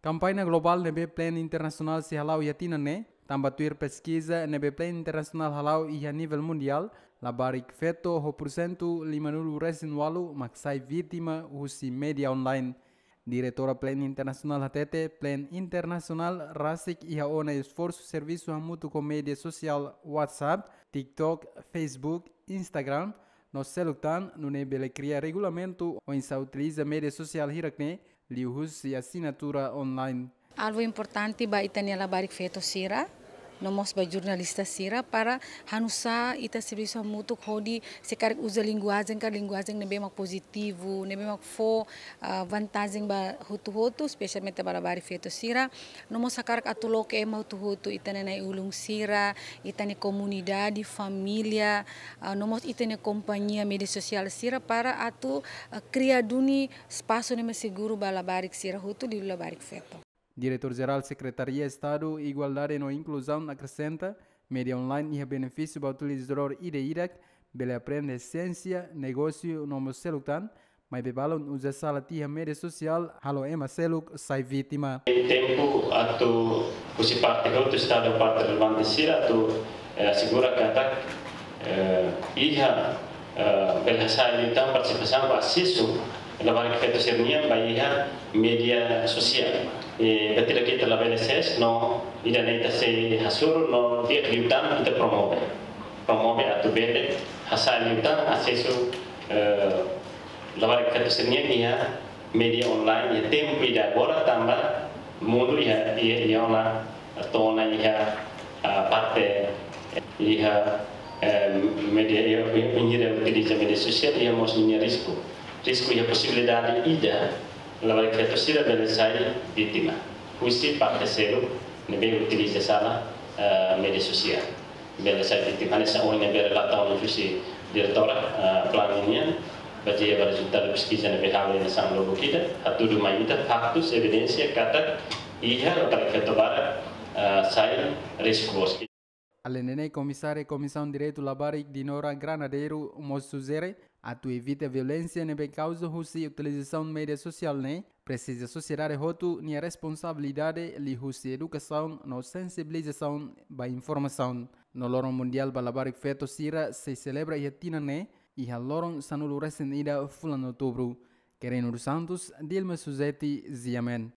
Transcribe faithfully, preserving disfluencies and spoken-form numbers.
Kampaña globál ne'ebé Plan Internasionál sei hala'o iha tinan ne'e, tanba tuir peskiza ne'ebé Plan Internasionál hala'o iha nivel mundiál, labarik feto ho porsentu lima-nulu resin-ualu mak sai vítima husi média online. Diretora Plan Internasionál hatete, Plan Internasionál rasik iha ona esforsu servisu hamutuk ho média sosiál WhatsApp, TikTok, Facebook, Instagram, no seluk tan, nune'e bele kria regulamentu oinsá utiliza média sosiál hirak-ne'e, liuhusi asinatura online. Alvu importante ba ita-nia labarik feto sira, no mós ba jornalista sira para hanusá ita servisu hamutuk hodi se karik uza linguajen ka linguajen ne'ebé mak pozitivu, ne'ebé mak fó, ah, vantajen ba hotu-hotu, espesialmente ba labarik feto sira. No mós hakarak atu loke ema hotu-hotu, ita-nia na'i-ulun sira, ita-nia komunidade, família, ah, no mós ita-nia kompañia média sosiál sira para atu, ah, kria duni espasu ne'ebé seguru ba labarik sira hotu, liuliu labarik feto. Diretór Jerál Sekretaria Estadu Igualdade no Inkluzaun akresenta, média online iha benefísiu ba utilizadór ida-idak, bele aprende siénsia, negósiu no mós seluk tan, maibé balun uza sala tiha média sosiál halo ema seluk sai vítima. Tempu atu husi parte hotu, Estadu, parte relevante sira atu, eh, asegura katak, eh, iha, eh, bele hasa'e liután partisipasaun ba asesu labarik feto sira-nian ba iha média sosiál. Eh, ba ita-nia, ita labele ses, no ida-ne'e ita sei hasoru, no di'ak liután ita promove. Promove atu bele hasa'e liután asesu, eh, labarik feto sira-nian iha média online iha tempu ida agora, tanba mundu iha, iha, iha ona, to'o ona iha, ah, parte iha, eh, média, iha, iha, iha utiliza média sosiál, iha mós ninia risku. Risku iha posibilidade ida labarik feto sira bele sai vítima husi parte seluk ne'ebé utiliza sala, eh, média sosiál. Bele sai vítima, hanesan ohin ne'ebé relata ona husi diretora, eh, Plan nian, bazeia ba rezultadu peskiza ne'ebé halo hanesan lubuk ida, hatudu mai ita faktus, evidénsia katak iha labarik feto barak, eh, sai risku boot. Alende ne'e, Komisária Komisaun Direitu Labarik, Dinora Granadeiro, mós sujere, atu evita violénsia ne'ebé kauza husi utilizasaun média sosiál ne'e, presiza sosiedade hotu nia responsabilidade liuhusi edukasaun no sensibilizasaun ba informasaun. No loron mundiál ba labarik feto sira sei selebra iha tinan ne'e, iha loron sanulu resin-ida fulan Outubru. Querino dos Santos, Dilma Suzeti, Ziamen.